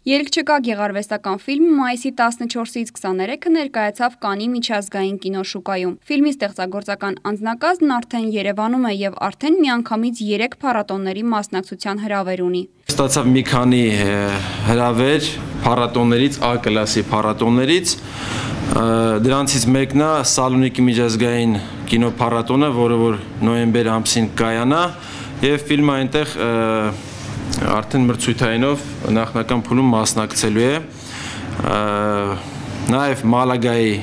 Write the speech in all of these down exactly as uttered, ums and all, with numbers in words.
Ելք չկա գեղարվեստական ֆիլմը մայիսի տասնչորսից քսաներեքը ներկայացավ Կաննի միջազգային կինոշուկայում։ Ֆիլմի ստեղծագործական անձնակազմն արդեն Երևանում է եւ արդեն միանգամից երեք փառատոների մասնակցության հրավեր ունի։ Ստացավ մի քանի հրավեր փառատոներից, A կլասի փառատոներից, դրանցից մեկն է Սալոնիկի միջազգային կինոփառատոնը, որը որ նոյեմբեր ամսին կայանա, եւ ֆիլմը այնտեղ արդեն մրցույթայինով նախնական փուլում մասնակցելու է, նաև Մալագայի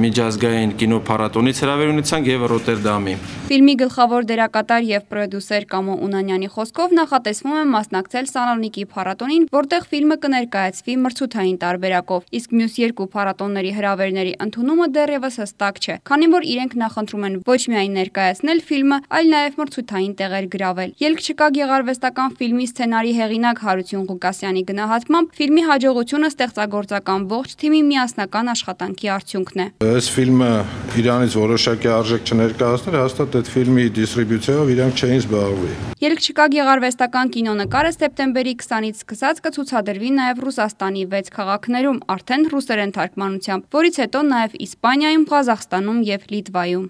միջազգային կինոփառատոնից հրավեր ունեցանք եւ Ռոտերդամի։ Ֆիլմի գլխավոր դերակատար եւ պրոդյուսեր Կամո Ունանյանի խոսքով նախատեսվում է մասնակցել Սալոնիկի փառատոնին, որտեղ ֆիլմը կներկայացվի մրցութային տարբերակով, իսկ մյուս երկու փառատոնների հրավերների ընդունումը դեռևս հստակ չէ, քանի որ իրենք նախընտրում են ոչ միայն ներկայացնել ֆիլմը, այլ նաև մրցութային տեղեր գրավել։ Ելք չկա գեղարվեստական ֆիլմի սցենարի հեղինակ Հարություն Ղուկասյանի գնահատմամբ ֆիլմի հաջողությունը ստեղծագործական ողջ թիմի միասնական աշխատանքի արդյունքն է։ Այս ֆիլմը իրանից որոշակի արժեք չներկայացներ, հաստատ այդ ֆիլմի դիստրիբյուցիայով իրանք չէին զբաղվի։ Ելք չկա գեղարվեստական կինոնկարը սեպտեմբերի քսանից սկսած կցուցադրվի նաև Ռուսաստանի վեց քաղաքներում, արդեն ռուսերեն թարգմանությամբ, որից հետո նաև Իսպանիայում, Ղազախստանում եւ Լիտվայում։